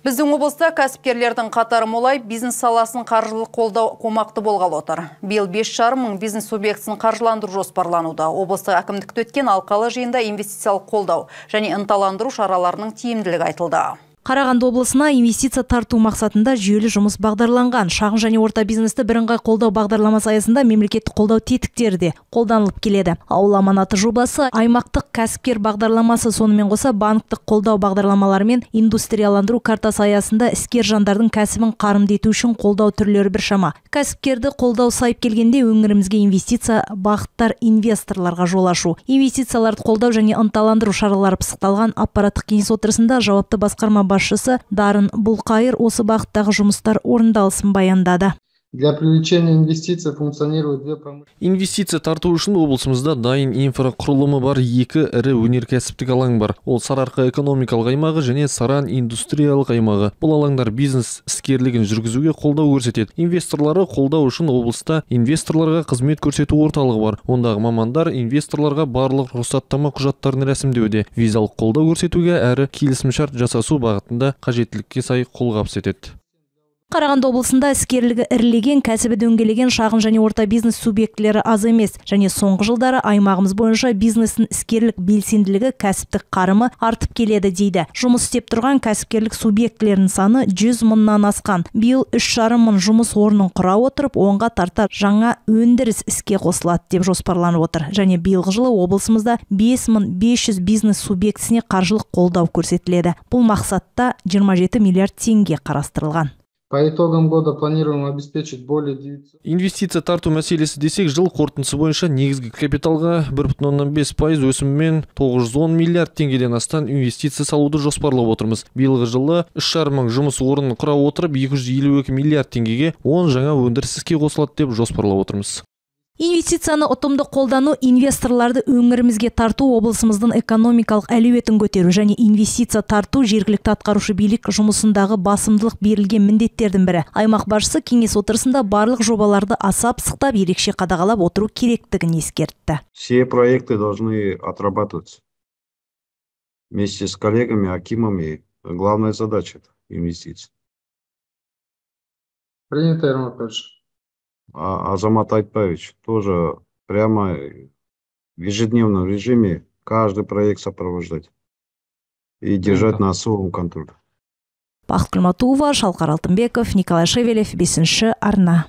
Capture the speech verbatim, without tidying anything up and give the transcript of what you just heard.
Біздің облыста кәсіпкерлердің қатары молай, бизнес саласын қаржылық қолдау қомақты болғалы отыр. Биыл бес жарым мың бизнес субъектісін қаржыландыру жоспарлануда. Облыстық әкімдікте өткен алқалы жиында инвестициялық қолдау және ынталандыру шараларының тиімділігі айтылды. Қарағанды облысына инвестиция тарту мақсатында жүйелі жұмыс бағдарланған. Шағын және орта бизнесті бірыңғай қолдау бағдарламасы аясында мемлекеттік қолдау тетіктері де қолданылып келеді. Ауыл аманаты жобасы, аймақтық кәсіпкер бағдарламасы, сонымен қоса банктік қолдау бағдарламалары мен индустрияландыру картасы аясында іскер жандардың кәсібін қарымды ету үшін қолдау түрлері біршама. Кәсіпкерді қолдау сайып келгенде өңірімізге инвестиция бағыттар инвесторларға жол ашу. Инвестицияларды қолдау және ынталандыру шаралары пысықталған аппараттық кеңес отырысында жауапты басқарма басшысы Дарын Бұлқайыр осы бағыттағы жұмыстар орындалысын баяндады. Для привлечения инвестиций функционирует две промышленности. Инвестиция тарту үшін облысымызда дайын инфрақұрылымы бар екі ірі өнеркәсіптік алаң бар. Ол Сарыарқа экономикалық аймағы және Саран индустриялық аймағы. Бұл алаңдар бизнес іскерлігін жүргізуге қолдау көрсетеді. Инвесторлары қолдау үшін облыста инвесторларға қызмет көрсету орталығы бар. Ондағы мамандар инвесторларға барлық рұқсаттама құжаттарын рәсімдеуде, визалық қолдау көрсетуге әрі келісімшарт жасасу бағытында қажеттілікке сай қолғабыс етеді. Қарағанды облысында іскерлігі ірілеген, кәсібі дөңгелеген шағын және орта бизнес субъектілері аз емес, және соңғы жылдары аймағымыз бойынша бизнестің іскерлік белсенділігі, кәсіптік қарымы артып келеді дейді. Жұмыс істеп тұрған кәсіпкерлік субъектілерінің саны жүз мыңнан асқан. Биыл үш жарым мың жұмыс орнын құра отырып, онға тарта жаңа өндіріс іске қосылады деп жоспарланып отыр. Және биылғы жылы облысымызда бес мың бес жүз бизнес субъектісіне қаржылық қолдау көрсетіледі. Бұл мақсатта жиырма жеті миллиард теңге қарастырылған. По итогам года планируем обеспечить более девятисот. Инвестиция тарту мәселесі десек, жыл қорытындысы бойынша негізгі капиталға бір бүтін оннан бес пайыз өсіммен тоғыз жүз он миллиард теңгеден астан инвестиция салуды жоспарлап отырмыз. Биылғы жылы үш жарым мың жұмыс орнын құра отырып, екі жүз елу екі миллиард теңгеге он жаңа өндіріс іске қосылады деп жоспарлап отырмыз. Инвестицияны ұтымды қолдану, инвесторларды өңірімізге тарту, облысымыздың экономикалық әлеуетін көтеру және инвестиция тарту жергілікті атқарушы билік жұмысындағы басымдылық берілген міндеттердің бірі. Аймақ басшысы кеңес отырысында барлық жобаларды аса пысықтап, ерекше қадағалап отыру керектігін ескертті. Все проекты должны отрабатываться вместе с коллегами, акимами. Главная задача – это инвестиции. Принято, Ермак Петрович. А Азамат Айтпаевич тоже прямо в ежедневном режиме каждый проект сопровождать и держать на особом контроле. Бақыт Құлматова, Шалқар Алтынбеков, Николай Шевелев, бесінші арна.